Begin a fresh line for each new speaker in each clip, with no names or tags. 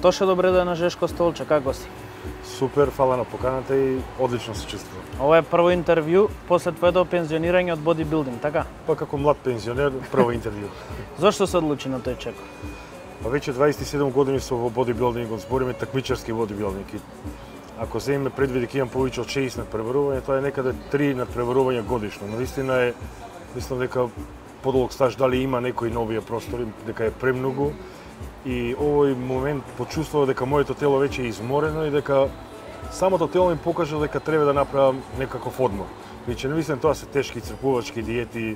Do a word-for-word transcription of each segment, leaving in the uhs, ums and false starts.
Тоше добре да е на Жешко столче, како си?
Супер, фала на поканата и одлично се чувствувам.
Ова е прво интервју после твоето пензионирање од бодибилдинг, така?
Па како млад пензионер, прво интервју.
Зошто се одлучи на тој чекор?
Па веќе дваесет и седум години сум во бодибилдингот, збориме такмичарски бодибилдинг. Ако земеме предвид дека имам повеќе од шеесет надпреварувања, тоа е некаде три надпреварувања годишно. Но вистина е, мислам дека подолг стаж дали има некои новија простори, дека е премногу. И овој момент почувствував дека моето тело веќе е изморено и дека самото тело ми покажа дека треба да направам некаков одмор. Веќе не мислам тоа се тешки исцрпувачки диети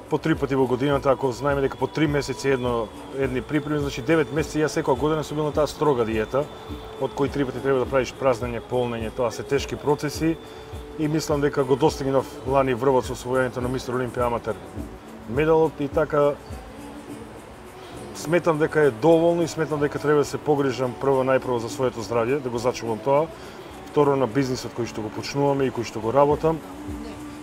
по три пати во годината, ако знаеме дека по три месеци едно едни припреми, значи девет месеци јас секоја година сум бил на таа строга диета, од кои три пати треба да правиш празнење, полнење, тоа се тешки процеси и мислам дека го достигнав лани врвот со освојањето на Мистер Олимпија аматер медалот и така сметам дека е доволно и сметам дека треба да се погрижам прво најпрво за своето здравје, да го зачувам тоа, второ на бизнисот кој што го почнуваме и кој што го работам.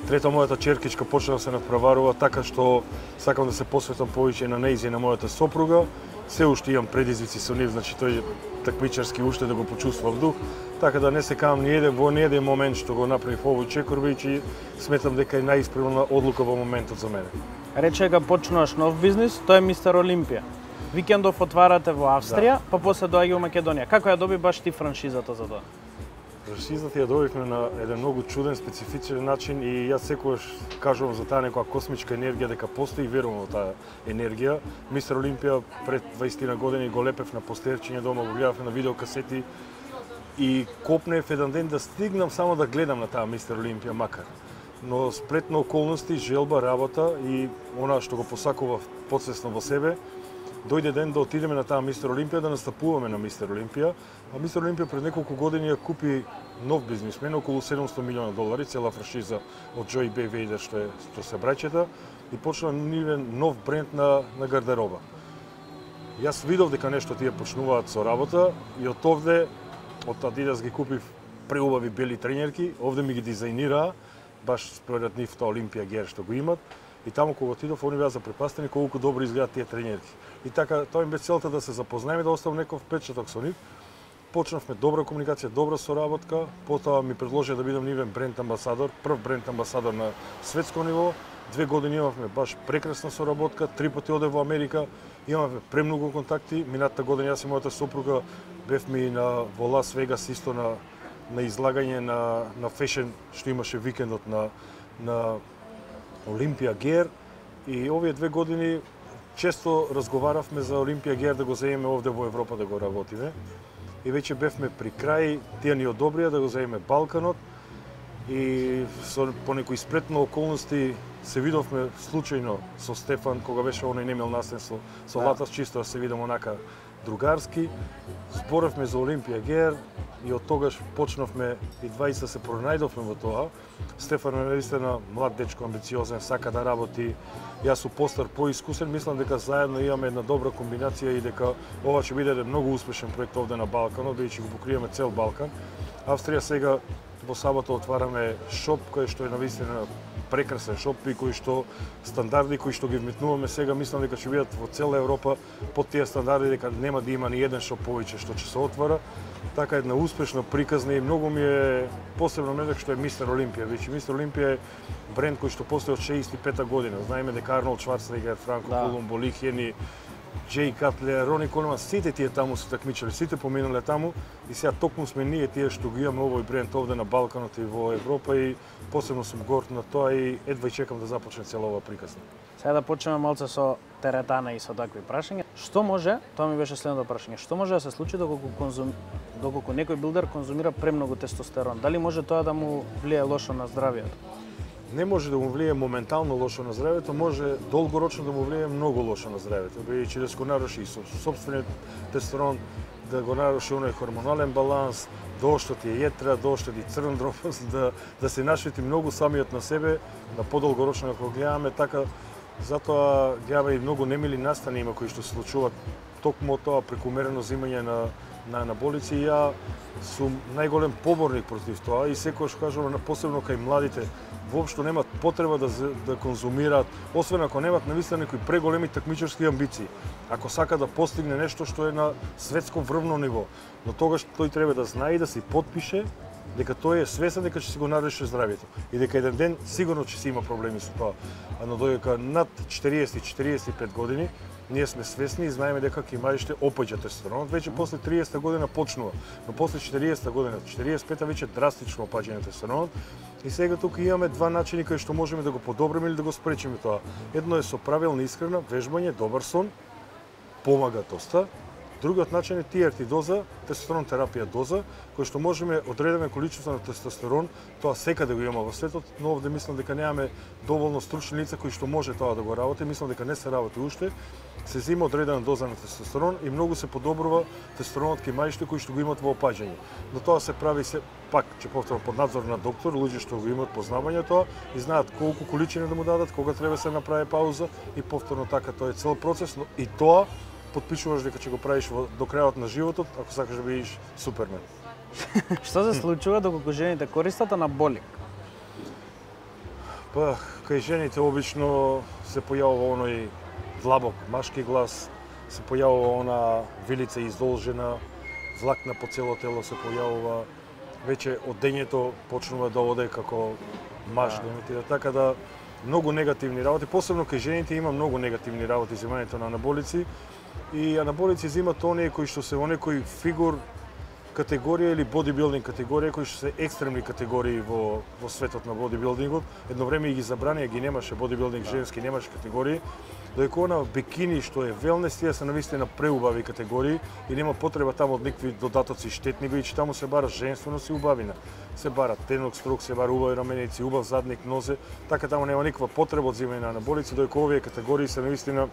Трето, мојата черкичка почна да се надпреварува, така што сакам да се посветам повеќе на нејзе и на мојата сопруга. Се уште имам предизвици со нив, значи тој такмичарски уште да го почувствувам дух, така да не се кам ни еден во ни еден момент што го направив овој чекор, веќе сметам дека е најисправна одлука во моментот за мене.
Рече дека почнуваш нов бизнис, тоа е Мистер Олимпија. Викендов отварате во Австрија, да. Па после доаѓа во Македонија. Како ја доби баш ти франшизата за тоа?
Франшизата ја добивме на еден многу чуден, специфичен начин и јас секогаш кажувам за таа некоја космичка енергија дека постои и верувам во таа енергија. Мистер Олимпија пред дваесет години го лепев на постерчиња дома, го гледавме на видеокасети и копнев еден ден да стигнам само да гледам на таа Мистер Олимпија макар. Но сплетно околности, желба, работа и она што го посакував подсвесно во себе, дојде ден да отидеме на таа Мистер Олимпија, да настапуваме на Мистер Олимпија. А Мистер Олимпија пред неколку години ја купи нов бизнисмен, околу седумстотини милиони долари, цела франшиза од Джои Б. Вейдер, што е што се браќета, и почна нивен нов бренд на, на гардероба. Јас видов дека нешто тие почнуваат со работа и од овде, од Адидас ги купив преубави бели тренерки, овде ми ги дизајнираа, баш според нивта Олимпија Гер што го имат. И таму кога отидов, они беа запрепастени колку добро изгледаат тие тренерки. И така, тоа им бе целта да се запознаеме, да оставам некој впечаток со нив. Почнавме добра комуникација, добра соработка, потоа ми предложија да бидам нивен бренд амбасадор, прв бренд амбасадор на светско ниво. Две години имавме баш прекрасна соработка, три пати оде во Америка, имавме премногу контакти. Минатата година јас и мојата сопруга бевме и на во Лас Вегас исто на на излагање на на фешен што имаше викендот на на Олимпија Гер и овие две години често разговаравме за Олимпија Гер да го земеме овде во Европа да го работиме. И веќе бевме при крај, тие ни одобрија да го земеме Балканот и со по некои спретно околности се видовме случајно со Стефан кога беше оној немел наследство со да. Латас, чисто да се видам онака другарски. Зборавме за Олимпија Гер и од тогаш почнавме и двајца се пронајдовме во тоа. Стефан е наистина млад дечко, амбициозен, сака да работи. Јас сум постар, поискусен, мислам дека заедно имаме една добра комбинација и дека ова ќе биде еден многу успешен проект овде на Балканот, бидејќи го покриеме цел Балкан. Австрија сега во сабота отвараме шоп кој што е навистина прекрасен шоп и кој што стандарди кои што ги вметнуваме сега, мислам дека ќе бидат во цела Европа под тие стандарди, дека нема да има ни еден шоп повеќе што ќе се отвара. Така една успешна, приказна и многу ми е посебно медек што е Мистер Олимпија. Веќе Мистер Олимпија е бренд кој што постои од шеесет и пета година. Знаеме дека Арнолд Шварценегер, Франко да. Колумбо, Ли Хени, Джей Катлер, Рони Колеман, сите тие таму се такмичали, сите поминале таму и сега токму сме ние тие што ги имаме овој бренд овде на Балканот и во Европа и посебно сум горд на тоа и едва чекам да започне цела ова приказна.
Сега да почнеме малце со теретана и со такви прашања. Што може, тоа ми беше следното прашање, што може да се случи доколку конзум доколку некој билдер конзумира премногу тестостерон? Дали може тоа да му влие лошо на здравјето?
Не може да му влие моментално лошо на здравјето, може долгорочно да му влие многу лошо на здравјето, бидејќи да се го наруши со сопствениот тестостерон, да го наруши оној хормонален баланс, да оштети јетра, да оштети црн дробост, да да се нашвети многу самиот на себе, на подолгорочно ако гледаме така. Затоа гледаме и многу немили настани има кои што се случуваат токму тоа прекумерено земање на на анаболици и ја сум најголем поборник против тоа и секогаш кажувам, посебно кај младите, воопшто немат потреба да да конзумираат, освен ако немат навистина некои преголеми такмичарски амбиции. Ако сака да постигне нешто што е на светско врвно ниво, но тогаш тој треба да знае и да се подпише дека тој е свесен дека ќе си го наруши здравјето и дека еден ден сигурно ќе си има проблеми со тоа. А но додека над четириесет до четириесет и пет години ние сме свесни и знаеме дека кај младите опаѓа тестостеронот, веќе после триесетта година почнува, но после четириесетта година, четириесет и петта веќе драстично опаѓање на тестостеронот. И сега тука имаме два начини кај што можеме да го подобриме или да го спречиме тоа. Едно е со правилна исхрана, вежбање, добар сон, помага доста. Другиот начин е ти ар ти доза, тестостерон терапија доза, кој што можеме одредено количество на тестостерон, тоа секаде го има во светот, но овде мислам дека немаме доволно стручни лица кои што може тоа да го работи, мислам дека не се работи уште. Се зема одредена доза на тестостерон и многу се подобрува тестостеронот кај мајшите кои што го имаат во опаѓање. Но тоа се прави се пак, ќе повторам, под надзор на доктор, луѓе што го имаат познавање тоа и знаат колку количина да му дадат, кога треба се направи пауза и повторно така тоа е цел процес, но и тоа потпишуваш дека ќе го правиш до крајот на животот, ако сакаш да бидеш супермен.
Што се случува доколку жените користат анаболик?
Па, кај жените обично се појавува оној длабок машки глас, се појавува она вилица издолжена, влакна по цело тело се појавува, веќе од дењето почнува да оде како маж, да имитира, така да многу негативни работи, посебно кај жените има многу негативни работи земањето на анаболици. И анаболици земат оние кои што се во некој фигур категорија или бодибилдинг категорија, кои што се екстремни категории во во светот на бодибилдингот. Едно време и ги забранија, ги немаше бодибилдинг женски, немаше категории. Додека она бикини што е велнес, тие се навистина преубави категории и нема потреба таму од никакви додатоци штетни, бидејќи таму се бара женственост и убавина. Се бара тенок строк, се бара убави раменици, убав задник, нозе, така таму нема никаква потреба од земање на анаболици, додека овие категории се навистина.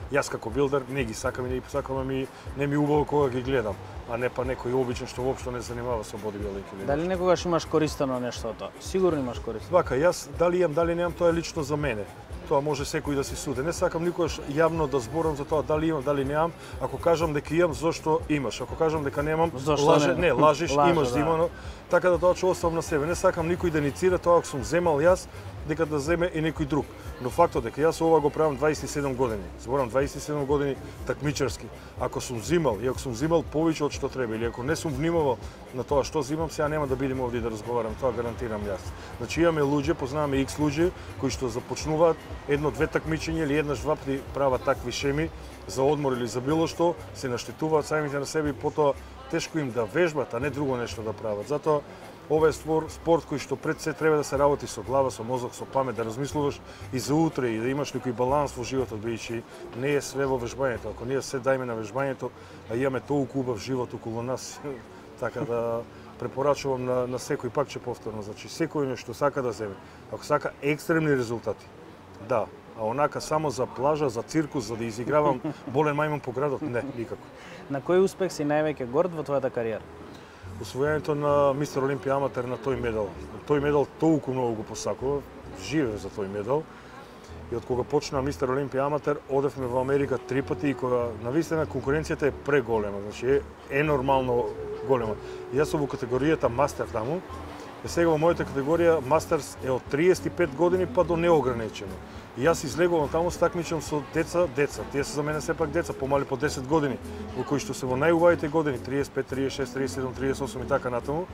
Јас како билдер не ги сакам и не ги посакам, ами не ми убаво кога ги гледам, а не па некој обичен што воопшто не занимава со бодибилдинг.
Дали некогаш имаш користено нешто од тоа? Сигурно имаш користено.
Вака, јас дали имам, дали немам, тоа е лично за мене. Тоа може секој да се суди. Не сакам никогаш јавно да зборам за тоа дали имам, дали немам. Ако кажам дека имам, зошто имаш? Ако кажам дека немам, лаже, не, лажеш, Лаже, имаш да имано. Така да тоа ќе оставам на себе. Не сакам никој да иницира тоа ако сум земал јас, дека да земе и некој друг. Но фактот дека јас ова го правам дваесет и седум години. Зборам дваесет и седум години такмичарски. Ако сум зимал и ако сум зимал повеќе од што треба или ако не сум внимавал на тоа што зимам, сега нема да бидеме овде да разговарам, тоа гарантирам јас. Значи имаме луѓе, познаваме икс луѓе кои што започнуваат едно-две такмичења или еднаш-два пати прават такви шеми за одмор или за било што, се наштетуваат самите на себе и потоа тешко им да вежбат, а не друго нешто да прават. Затоа ова е спорт кој што пред се треба да се работи со глава, со мозок, со памет, да размислуваш и за утре и да имаш некој баланс во животот, бидејќи не е све во вежбањето. Ако ние се дајме на вежбањето, а имаме толку убав живот околу нас, така да препорачувам на, на секој, пак ќе повторно, значи секој нешто сака да земе. Ако сака екстремни резултати, да, а онака само за плажа, за циркус, за да изигравам болен мајмун по градот, не, никако.
На кој успех си највеќе горд во твојата кариера?
Освојањето на Мистер Олимпија аматер на тој медал. Тој медал толку многу го посакував, живеев за тој медал. И од кога почна Мистер Олимпија аматер, одевме во Америка три пати и кога навистина конкуренцијата е преголема, значи е, е нормално голема. И јас сум во категоријата мастер таму. И сега во мојата категорија мастерс е од триесет и пет години па до неограничено. И јас излегувам таму, стакмичам со деца, деца. Тие се за мене сепак деца, помали по десет години, во кои што се во најубавите години, триесет и пет, триесет и шест, триесет и седум, триесет и осум и така натаму.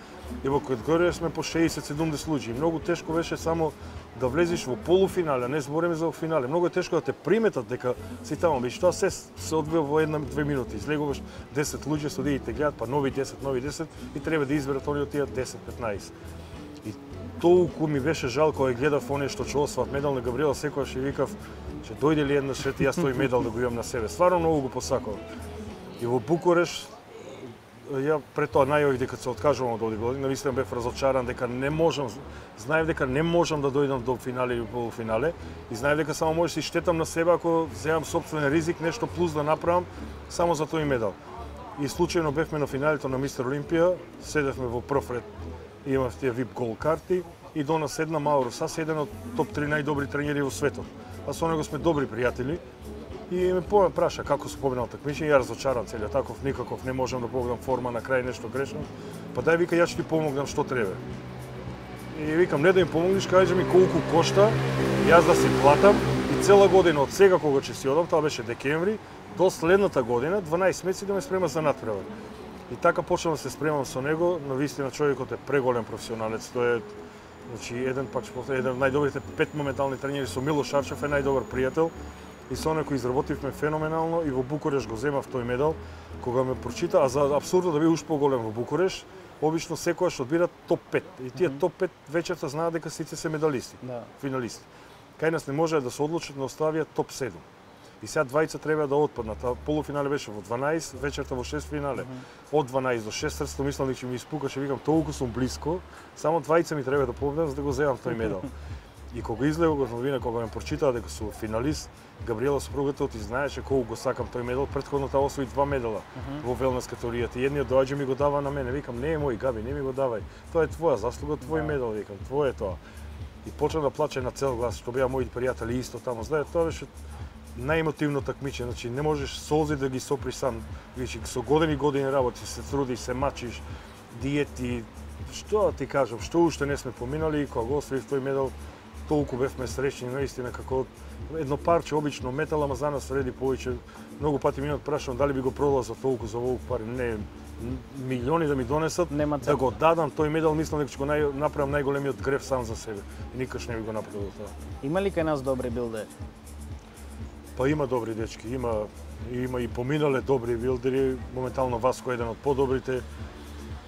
И во категорија сме по шеесет седумдесет луѓе. Многу тешко беше само да влезеш во полуфинале, а не збориме за финале. Многу е тешко да те приметат дека си таму, бидејќи тоа се се одвива во една-две минути. Излегуваш десет луѓе, судиите гледат, па нови десет, нови десет и треба да изберат оние од тие десет-петнаесет. И толку ми беше жал кога гледав оние што ќе освоат медал на Габриела, секогаш и викав, ќе дојде ли еднаш и јас тој медал да го имам на себе. Стварно многу го посакувам. И во Букуреш, ја пред тоа најавив дека се откажувам од овие години, навистина бев разочаран дека не можам, знаев дека не можам да дојдам до финале или полуфинале и знаев дека само можеш да штетам на себе ако земам сопствен ризик, нешто плюс да направам само за тој медал. И случајно бевме на финалето на Мистер Олимпија, седевме во прв ред, имав тие вип гол карти и до нас седна Мауро Сас, еден од топ три најдобри тренери во светот. А со него сме добри пријатели И ме поме праша како се победил такмичење, ја разочаран целиот таков, никаков не можам да погодам форма, на крај нешто грешно. Па дај вика, јас ќе ти помогнам што треба. И викам, не да им помогнеш, кажи ми колку кошта, јас да си платам и цела година од сега кога ќе си одам, тоа беше декември, до следната година, дванаесет месеци да ме спрема за надпревар. И така почнав да се спремам со него, но вистина човекот е преголем професионалец. Тој е, значи, еден пак ќе повторам, еден од најдобрите пет моментални тренери со Милош Арчев е најдобар пријател. И со некој изработивме феноменално и во Букуреш го земав тој медал. Кога ме прочита, а за апсурдот да биде уште поголем во Букуреш, обично секојаш одбира топ пет. И тие mm -hmm. топ пет вечерта знаат дека сите се медалисти, да. Финалисти. Кај нас не може да се одлучат да оставија топ седум. И сега двајца треба да отпаднат. А полуфинале беше во дванаесет, вечерта во шест финале. Mm -hmm. Од дванаесет до шестнаесет мислам дека ќе ми испукаше, викам толку сум блиско, само двајца ми треба да победам за да го земам тој медал. И кога излегов во новина, кога ме прочитаа дека сум финалист, Габриела сопругата ти знаеше колку го сакам тој медал, претходната освои два медала uh -huh. во велнес категоријата. Едниот доаѓа ми го дава на мене, викам не е мој, Габи, не ми го давај. Тоа е твоја заслуга, твој yeah. медал, викам, твое е тоа. И почна да плаче на цел глас, што беа мои пријатели исто таму. Знаете, тоа беше најемотивно такмичење, значи не можеш солзи да ги соприш сам. Вичи, со години години работи, се трудиш, се мачиш, диети, што ти кажам, што уште не сме поминали, кога го освоив тој медал, толку бевме среќни, наистина, како едно парче обично метал, ама за нас вреди повеќе. Многу пати ми прашувам дали би го продал за толку за овој пари. Не, милиони да ми донесат, да го дадам тој медал, мислам дека ќе го нај, направам најголемиот греф сам за себе. И никаш не би го направил тоа.
Има ли кај нас добри билдери?
Па има добри дечки, има има и поминале добри билдери, моментално Васко е еден од подобрите.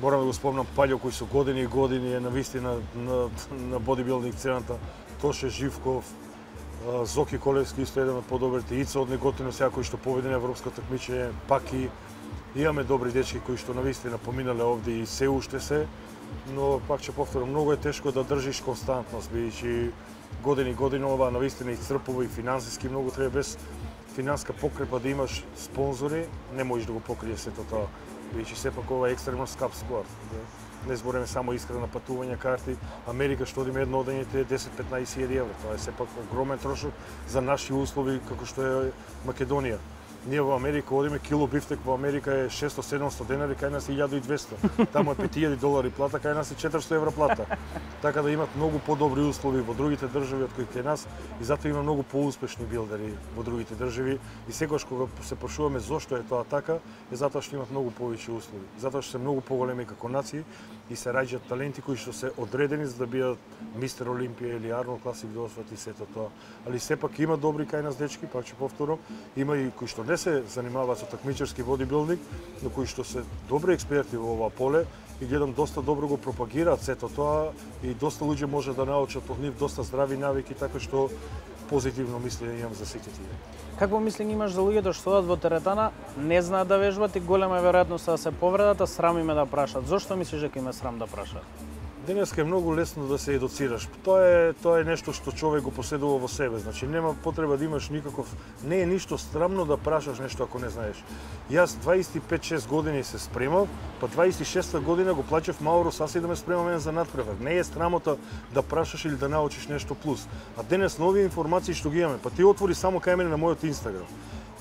Морам да го спомнам Паљо кој со години и години е навистина на на бодибилдинг сцената. Тоше Живков, Зоки Колевски исто еден од подобрите, Ица од Неготино сега кој што победи на европско такмичење, Паки. Имаме добри дечки кои што навистина поминале овде и се уште се, но пак ќе повторам, многу е тешко да држиш константност, бидејќи години години ова навистина исцрпува и финансиски многу треба, без финанска покрепа да имаш спонзори, не можеш да го покриеш сето тоа. Бидејќи сепак ова е екстремно скап спорт. Не збориме само искрена патување, карти. Америка што одиме едно одење е десет-петнаесет илјади евра. Тоа е сепак огромен трошок за наши услови како што е Македонија. Ние во Америка одиме, кило бифтек во Америка е шесто-седумсто денари, кај нас е илјада и двесто. Таму е пет илјади долари плата, кај нас е четиристо евра плата. Така да имат многу подобри услови во другите држави од кои кај нас и затоа има многу поуспешни билдери во другите држави. И секогаш кога се прашуваме зошто е тоа така, е затоа што имат многу повеќе услови. Затоа што се многу поголеми како нации и се раѓаат таленти кои што се одредени за да бидат Мистер Олимпија или Арнолд Класик да освојат и сето тоа. Али сепак има добри кај нас дечки, пак ќе повторам, има и кои што не се занимаваат со такмичарски бодибилдинг, но кои што се добри експерти во ова поле и гледам доста добро го пропагираат сето тоа и доста луѓе може да научат од нив доста здрави навики, така што позитивно мислење имам за сите тие.
Какво мислење имаш за луѓето што одат во теретана, не знаат да вежбат и голема е веројатноста да се повредат, а срам им е да прашаат. Зошто мислиш дека им е срам да прашаат?
Денеска е многу лесно да се едуцираш. Тоа е тоа е нешто што човек го поседува во себе. Значи нема потреба да имаш никаков, не е ништо срамно да прашаш нешто ако не знаеш. Јас дваесет и пет-шест години се спремав, па дваесет и шеста година го плачев Мауро Саси да ме спрема мене за надпревар. Не е срамота да прашаш или да научиш нешто плюс. А денес нови информации што ги имаме, па ти отвори само кај мене на мојот Инстаграм.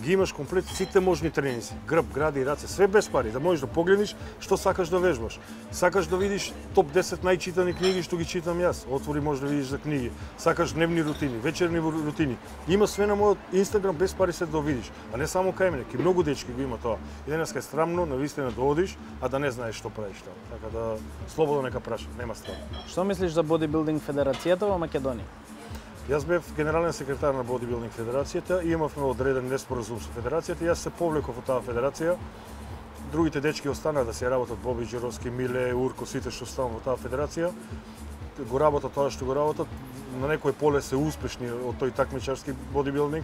Ги имаш комплет сите можни тренинзи, грб, гради, раце, све без пари, да можеш да погледнеш што сакаш да вежбаш. Сакаш да видиш топ десет најчитани книги што ги читам јас, отвори може да видиш за книги. Сакаш дневни рутини, вечерни рутини. Има све на мојот Инстаграм без пари се да видиш, а не само кај мене, ки многу дечки го има тоа. И денеска е срамно навистина да одиш, а да не знаеш што правиш тоа. Така да слободно нека прашаш, нема страх.
Што мислиш за бодибилдинг федерацијата во Македонија?
Јас бев генерален секретар на бодибилдинг федерацијата и имавме одреден неспоразум со федерацијата. Јас се повлеков од таа федерација. Другите дечки останаа да се работат, Боби Џеровски, Миле, Урко, сите што станаа во таа федерација. Го работат тоа што го работат. На некој поле се успешни од тој такмичарски бодибилдинг.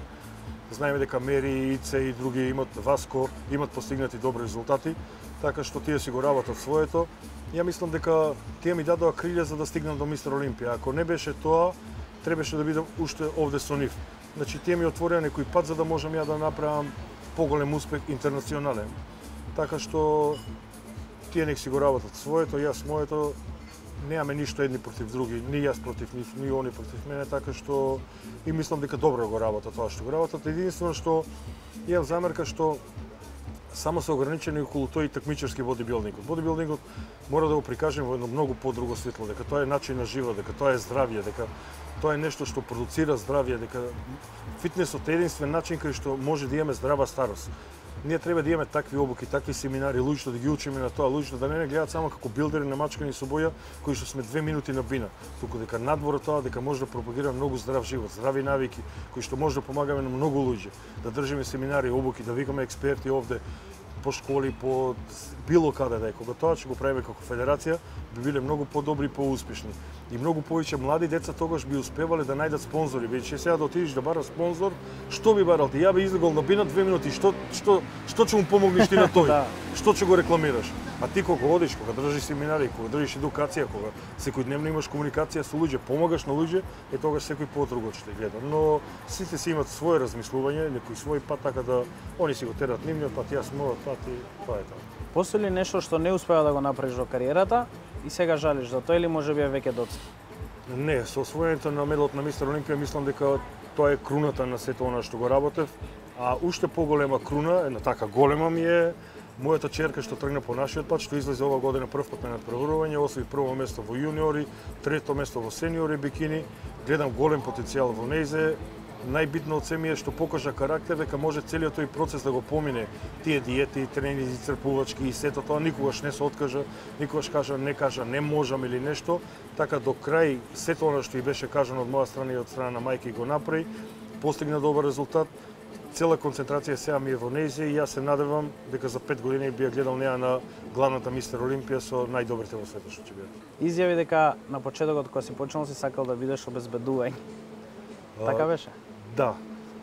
Знаеме дека Мери, Ице и други имат, Васко, имат постигнати добри резултати, така што тие си го работат своето. Ја мислам дека тие ми дадоа крилја за да стигнам до Мистер Олимпија. Ако не беше тоа, требаше да бидам уште овде со нив. Значи, тие ми отворија некој пат за да можам ја да направам поголем успех интернационален. Така што тие нек си го работат своето, јас моето немаме ништо едни против други, ни јас против нив, ни они против мене, така што и мислам дека добро го работат тоа што го работат. Единствено што имам замерка што само се ограничени околу тој такмичарски бодибилдингот. Бодибилдингот мора да го прикажеме во едно многу подруго светло, дека тоа е начин на живот, дека тоа е здравје, дека тоа е нешто што продуцира здравје, дека фитнесот е единствен начин кај што може да имаме здрава старост. Ние треба да имаме такви обуки, такви семинари, луѓето да ги учиме на тоа, луѓето да не не гледаат само како билдери намачкани со боја, кои што сме две минути на бина, туку дека надвор тоа дека може да пропагира многу здрав живот, здрави навики, кои што може да помагаме на многу луѓе, да држиме семинари, обуки, да викаме експерти овде по школи, по било каде да е. Кога тоа ќе го правиме како федерација, би биле многу подобри и поуспешни. И многу повеќе млади деца тогаш би успевале да најдат спонзори. Бидејќи сега да отидеш да бараш спонзор, што би барал ти? Ја би излегол на бина две минути, што што што ќе му помогнеш ти на тој? Што ќе го рекламираш? А ти кога одиш, кога држиш семинари, кога држиш едукација, кога секојдневно имаш комуникација со луѓе, помагаш на луѓе, е тогаш секој подруго ќе те гледа. Но сите си имат свое размислување, некој свој пат, така да они си го терат нивниот пат, јас мојот пат и тоа е тоа.
Постои ли нешто што не успеа да го направиш во кариерата и сега жалиш за тоа или можеби е веќе доцна?
Не, со освојањето на медалот на Мистер Олимпија мислам дека тоа е круната на сето она што го работев, а уште поголема круна, една така голема ми е мојата черка што тргна по нашиот пат, што излезе ова година прв пат на надпреварување, освои прво место во јуниори, трето место во сениори бикини, гледам голем потенцијал во нејзе. Најбитно од се ми е што покажа карактер дека може целиот тој процес да го помине, тие диети, тренинзи, црпувачки и сето тоа, никогаш не се откажа, никогаш кажа не кажа не можам или нешто, така до крај сето она што и беше кажано од моја страна и од страна на мајка го направи, постигна добар резултат. Цела концентрација сега ми е во нејзе и јас се надевам дека за пет години би ја гледал неа на главната Мистер Олимпија со најдобрите во светот што ќе бидат.
Изјави дека на почетокот кога си почнал си сакал да бидеш обезбедување. Така беше?
Да.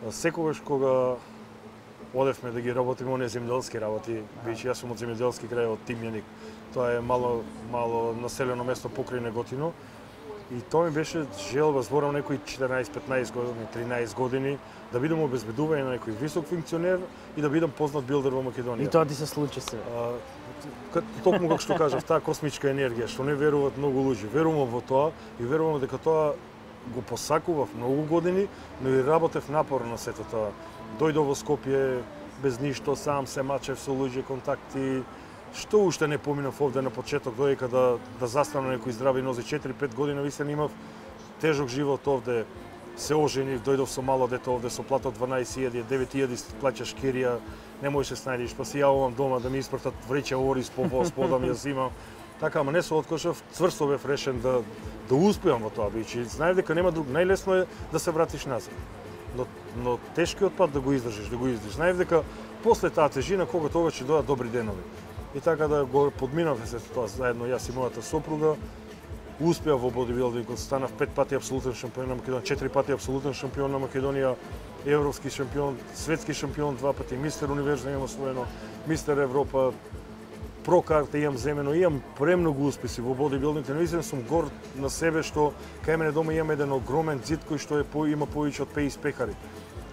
Секогаш кога одевме да ги работиме оние земјоделски работи, бидејќи јас сум од земјоделски крај, од Тимјаник, тоа е мало мало населено место покрај Неготино. И тоа ми беше желба, зборам некои четиринаесет-петнаесет години, тринаесет години, да бидам обезбедување на некој висок функционер и да бидам познат билдер во Македонија.
И тоа ти се случи се.
Токму како што кажав, таа космичка енергија, што не веруваат многу луѓе. Верувам во тоа и верувам дека тоа го посакував многу години, но и работев напорно на сето тоа. Дојдов во Скопје без ништо, сам се мачев со луѓе, контакти. Што уште не поминав овде на почеток, додека да да застанам некои здрави нози, четири-пет години вистина имав тежок живот овде. Се оженив, дојдов со мало дете овде со плата од дванаесет илјади, девет илјади плаќаш кирија, не можеш се снајдеш, па си јавувам дома да ми испратат вреќа ориз по воз, подам ја зимам. Така, ама не се откажав, цврсто бев решен да да успеам во тоа, бидејќи знаев дека нема друг, најлесно е да се вратиш назад. Но но тешкиот пат да го издржиш, да го издржиш. Знаев дека после таа тежина кога тоа ќе дојдат добри денови. И така да го подминавме се тоа заедно јас и мојата сопруга. Успеав во бодибилдингот, станав пет пати апсолутен шампион на Македонија, четири пати апсолутен шампион на Македонија, европски шампион, светски шампион, два пати мистер универзум имам освоено, мистер Европа, про карта имам земено, имам премногу успеси во бодибилдинг, наистина сум горд на себе што кај мене дома имам еден огромен ѕид кој што е по, има повеќе од петдесет пекари.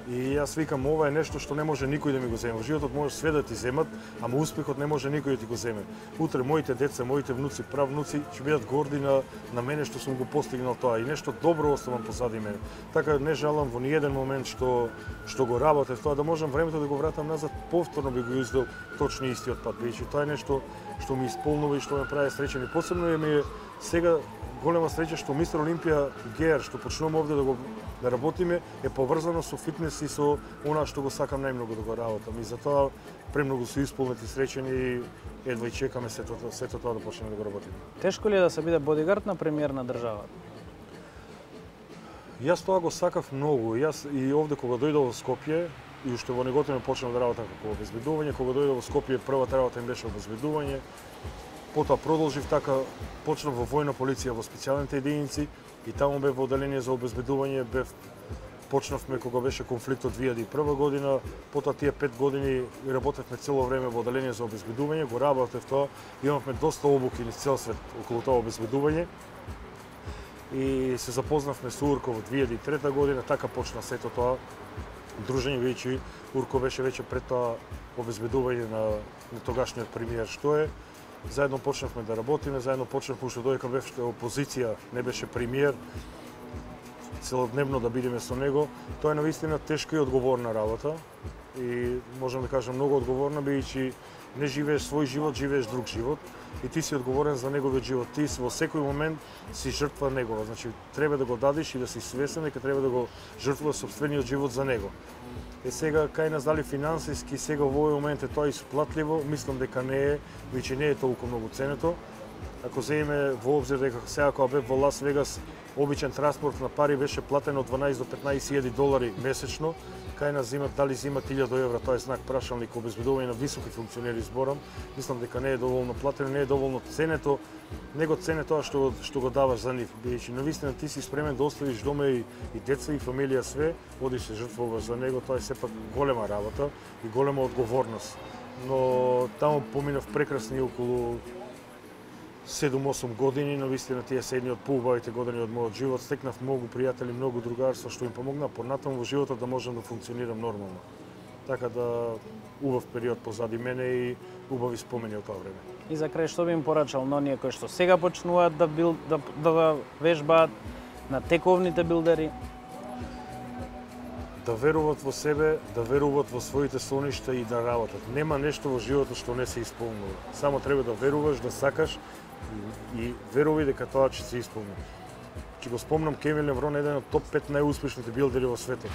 И јас викам, ова е нешто што не може никој да ми го земе. Во животот може све да ти земат, ама успехот не може никој да ти го земе. Утре моите деца, моите внуци, правнуци ќе бидат горди на, на мене што сум го постигнал тоа и нешто добро оставам позади мене. Така не жалам во ниеден момент што што го работев тоа, да можам времето да го вратам назад, повторно би го издел точно истиот пат. Бидејќи тоа е нешто што ми исполнува и што ме прави среќен. И посебно е ми сега голема среќа што Мистер Олимпија ГЕР, што почнуваме овде да го да работиме, е поврзано со фитнес и со она што го сакам најмногу да го работам. И затоа премногу су исполнети среќени и едва и чекаме сето, сето тоа да почнеме да го работиме.
Тешко ли е да се биде бодигард на премиер на државата?
Јас тоа го сакав многу. Јас и овде кога дојдов во Скопје, и уште во Неготино почнав да работам како обезбедување, кога дојдов во Скопје првата работа им беше обезбедување. Потоа продолжив така, почнав во војна полиција во специјалните единици и таму бев во одделение за обезбедување, бев почнавме кога беше конфликтот две илјади и прва година, потоа тие пет години работевме цело време во одделение за обезбедување, го работев тоа, имавме доста обуки низ цел свет околу тоа обезбедување. И се запознавме со Урко во две илјади и трета година, така почна сето тоа дружење, бидејќи Урко беше веќе пред тоа обезбедување на, на тогашниот премиер што е. заедно почнавме да работиме, заедно почнавме уште додека беше опозиција, не беше премиер, целодневно да бидеме со него. Тоа е навистина тешка и одговорна работа и можам да кажам многу одговорна, бидејќи не живееш свој живот, живееш друг живот и ти си одговорен за неговиот живот. Ти во секој момент си жртва негова. Значи треба да го дадеш и да си свесен дека треба да го жртвуваш сопствениот живот за него. Е сега кај нас дали финансиски сега во овој момент е тоа исплатливо, мислам дека не е, веќе не е толку многу ценето. Ако земеме во обзир дека сега кога бев во Лас Вегас, обичен транспорт на пари беше платено од дванаесет до петнаесет илјади долари месечно, кај нас зимат дали зимат илјада евра, тоа е знак прашалник обезбедување на високи функционери зборам. Мислам дека не е доволно платено, не е доволно ценето, него цене тоа што што го даваш за нив. Бидејќи навистина ти си спремен да оставиш дома и, и деца и фамилија све, одиш се жртвуваш за него, тоа е сепак голема работа и голема одговорност. Но таму поминав прекрасни околу седум-осум години, но вистина тие се едни од поубавите години од мојот живот. Стекнав многу пријатели, многу другарства што им помогна понатаму во животот да можам да функционирам нормално. Така да убав период позади мене и убави спомени од тоа време.
И за крај што би им порачал на оние кои што сега почнуваат да бил да, да вежбаат, на тековните билдери?
Да веруваат во себе, да веруваат во своите соништа и да работат. Нема нешто во животот што не се исполнува. Само треба да веруваш, да сакаш и верувај дека тоа ќе се исполни. Ќе го спомнам Кевин Леврон, еден од топ пет најуспешните билдери во светот.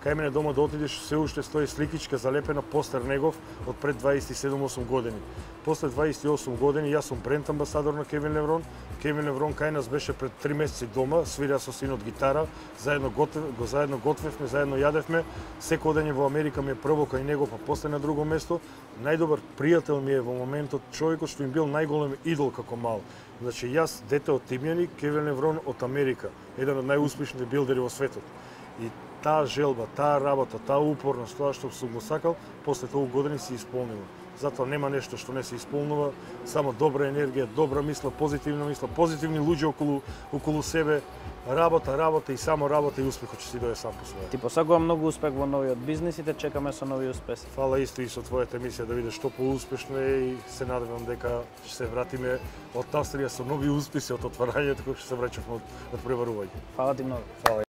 Кај мене дома да отидеш, се уште стои сликичка залепена, постер негов од пред дваесет и седум-осум години. После дваесет и осум години јас сум бренд амбасадор на Кевин Леврон. Кевин Леврон кај нас беше пред три месеци дома, свира со синот гитара, заедно готвев, го заедно готвевме, заедно јадевме. Секој ден во Америка ми е прво кај него, па после на друго место. Најдобар пријател ми е во моментот, човекот што им бил најголем идол како мал. Значи јас дете од Тимјани, Кевин Леврон од Америка, еден од најуспешните билдери во светот. И таа желба, таа работа, таа упорност, тоа што сум го сакал, после толку години се исполнило. Затоа нема нешто што не се исполнува, само добра енергија, добра мисла, позитивна мисла, позитивни луѓе околу околу себе, работа, работа и само работа и успехот ќе си дое сам по себе.
Ти посакувам многу успех во новиот бизнис и те чекаме со нови успеси.
Фала исто и со твојата емисија да видиш што поуспешно е и се надевам дека ќе се вратиме од Австрија со нови успеси од отварањето кој ќе се враќавме од, од преварување.
Фала ти многу.
Фала.